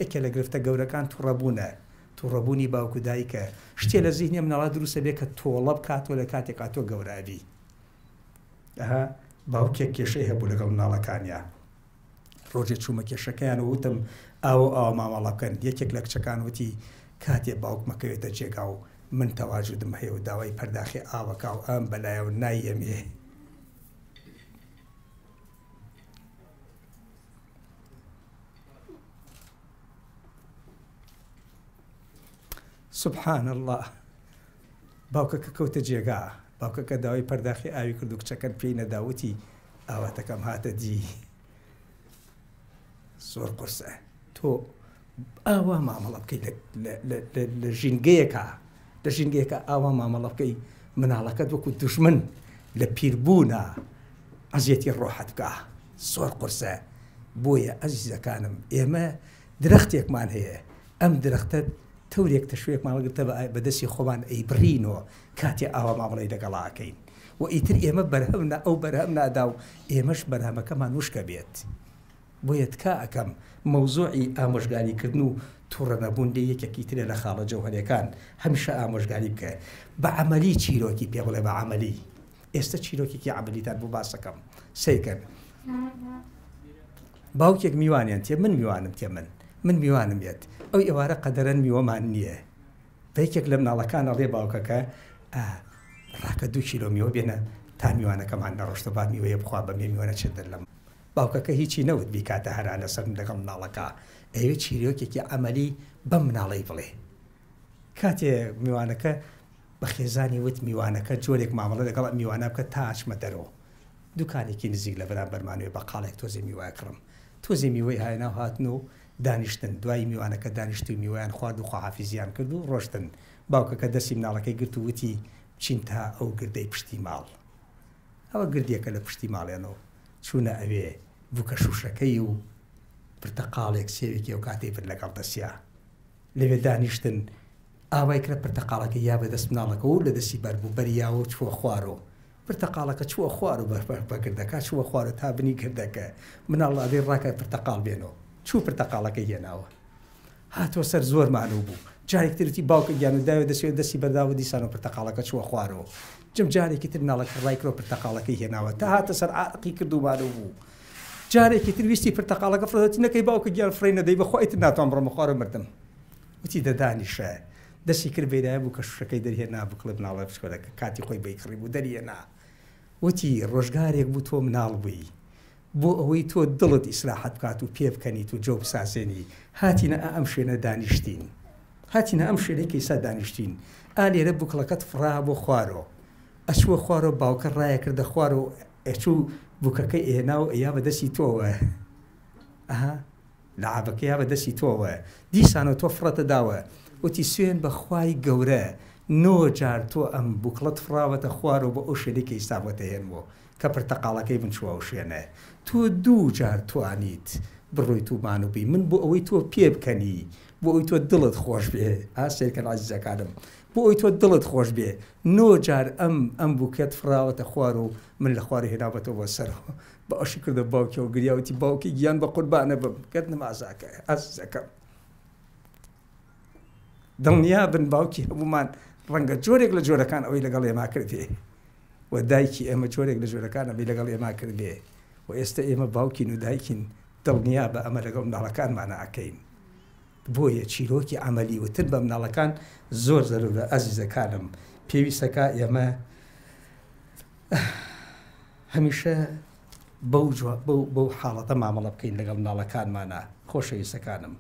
یەکێ لە گرفتە گەورەکان توڕەبوونە، توڕەبوونی باوک و دایکە، شتێ لە زیهنی مناڵا دروست ئەبێ کە تۆڵە بکاتەوە لە کاتێکا تۆ گەورە ئەبی. ئەها باوکێک کێشەی هەبوو لەگەڵ مناڵەکانیا، ڕۆژێ چوومە کێشەکەیان و وتم ئاوە ئاوا مامەڵە بکەن، یەکێک لە کچەکان وتی کاتێ باوکمە کەوێتە جێگا و من تەواجودم هەیە و داوای پەرداخێ ئاوەکا و ئەم بەلایەوە نایەمێ. سبحان اللە باوکەکە کەوتە جێگا باوکەکە داوای پەرداخی ئاوی کرد و کچەکەت پێی نەدا وتی ئاواتەکەم هاتە دی زۆر قورسە تۆ ئاوا مامەڵە بکەیت لە ژینگەیەکە لە ژینگەیەکە ئاوا مامەڵە بکەی مناڵەکەت وەکو دوژمن لە پیربوونە ئەزیەتی ڕۆحت بکە زۆر قورسە بۆیە ئەزیزەکانم ئێمە درەختێکمان هەیە ئەم درەختە تەورێک تەشوێکمان هەڵگرتە بە دەستی خۆمان ئەیبڕینەوە کاتێ ئاوا مامەڵەی لەگەڵا ئەکەین و ئیتر ئێمە بەرهەم نا ئەو بەرهەم نادا و ئێمەش بەرهەمەکەمان وشکە بێت بۆیە تکا ئەکەم مەوزوعی ئامۆژگاری کردن و توڕە نەبوون لێ یەکێکی ترە لە خاڵە جەوهەرێکان هەمیشە ئامۆژگاری بکە بە عەمەلی چیرۆکی پێ بڵێ بە عەمەلی ئێستە چیرۆکێکی عەمەلیتان بۆ باسەکەم سەیرکەن باوکێک میوانیان تێ من میوانم تێ من من میوانم یەت ئەو ئێوارە قەدەرەن میوەمان نییە بە یەکێک لە مناڵەکان ئەڵێ باوکەکە ڕاکە دوو کیلۆ میوە بێنە تا میوانەکەمان نەڕۆشتە با میوەیە بخوا بە مێ میوە نەچێت دەر لەم باوکەکە هیچی نەوت بیکاتە هەرا لەسەر لەگەڵ مناڵەکە ئەیەوێ چیرۆکێکی عەمەلی بەم مناڵەی بڵێ کاتێ میوانەکە بە خێزانی وت میوانەکە جۆرێک مامەڵە لەگەڵ ئەم میوانە بکە تا ئەچمە دەرەوە دوکانێکی نزیک لە بەرامبەرمانەوە بەقاڵێک تۆزێ میوە ئەکڕم تۆزێ میوەی هانا و هاتن و دانیشتن دوایی میوانەکە دانیشت و میوەیان خوارد و خواحافیزیان کرد و ڕۆشتن باوکەکە دەستی مناڵەکەی گرت و وتی بچین تا ئەو گردەی پشتی ماڵ ئەوە گردێکە لە پشتی ماڵێنەوە چوونە ئەوێ بووکە شووشەکەی و پرتەقاڵێک سێوێکی ئەو کاتەی برد لەگەڵ دەستیا لەوێ دانیشتن ئاوای کرا پرتەقاڵەکەی یا بە دەست مناڵەکەوە و لە دەستی بەر بوو بەریاوە و چووە خوارەوە پرتەقاڵەکە چووە خوارەوە بە گردەکە چووە خوارەوە تا بنی گردەکە مناڵ ئەبێ ڕاکە پرتەقاڵ بێنەوە چوو پرتەقاڵەکەی هێناوە هاتووە سەر زۆر مانوو بوو جارێکی تر وتی باوکە گیان و داوێ دەستی دەستی بەرداوە دیسانەوە پرتەقاڵەکە چووە خوارەوە جم جارێکی تر مناڵەکە ڕای کرد و پرتەقاڵەکەی هێناوە تا هاتە سەر عارەقی کرد و مانوو بوو جارێکی تر ویستی پرتەقاڵەکە فڕێ وتی نەکەی باوکە گیان فڕێی نەدەی بەخوا ئیتر ناتوانم بڕۆمە خوارەوە مردم وتی دە دانیشە دەستی کرد بەیرایە بوو کە شوشەکەی دەرهێنا بکڵێ مناڵە بچکۆلەکە کاتی خۆی بەی کڕی بوو دەریهێنا وتی ڕۆژگارێک بوو تۆ مناڵ بووی بۆ ئەوەی تۆ دڵت ئیسراحەت بکات و پێ بکەنیت و جەو بسازێنی هاتینە ئا ئەم شوێنە دانیشتین هاتینە ئەم شوێنەی کە ئیستا دانیشتین ئا لێرە بوکڵەکەت فڕا بۆ خوارۆ ئەچووە خوارۆ باوکە ڕایەکردە خوارۆ ئەچوو بوکەکەی ئێنا و ئەیا بە دەستی تۆوە ئەها لەعابەکەیا بە دەستی تۆوە دیسانەوە تۆ فڕەتە داوە وتی سوێن بە خوای گەورە نۆ جار تۆ ئەم بوکڵەت فڕاوەتە خوارەوە بۆ ئەو شوێنەی کە ئیستا بۆتە هێنمۆ کە پرتەقاڵەکەی من چووە ئەو شوێنە تۆ دوو جار توانیت بڕۆیت و مانوو بی من بۆ ئەوەی تۆ پێ بکەنی بۆ ئەوی تۆ دڵت خۆش بێ ئا سەیرکەن عەزیزەکانم بۆ ئەوی تۆ دڵت خۆش بێ نۆ جار ئەم ئەم بوکەت فڕاوەتە خوار و من لە خوارێ هێناومەتەوە بۆ سەرەوە باوەشی کردە باوکیەوە گریا وتی باوکی گیان بە قوربانە بم گەردنم ئازاکە ئازیزەکەم دڵنیا بن باوکی هەمومان ڕەنگە جۆرێک لە جۆرەکان ئەوەی لەگەڵ ئێمە کردێ و دایکی ئێمە جۆرێک لە جۆرەکان ئەمەی لەگەڵ ئێمە کردێ و ئێستا ئێمە باوکین و دایکین دڵنیا بە ئەمە لەگەڵ منداڵەکانمانە ئەکەین بۆیە چیرۆکی عەمەلی وتن بە مناڵەکان زۆر زەرورە ئازیزەکانم پێویستەکا ئێمە هەمیشە بەو بەو حاڵەتە مامەڵە بکەین لەگەڵ مناڵەکانمانە خۆشەویستەکانم.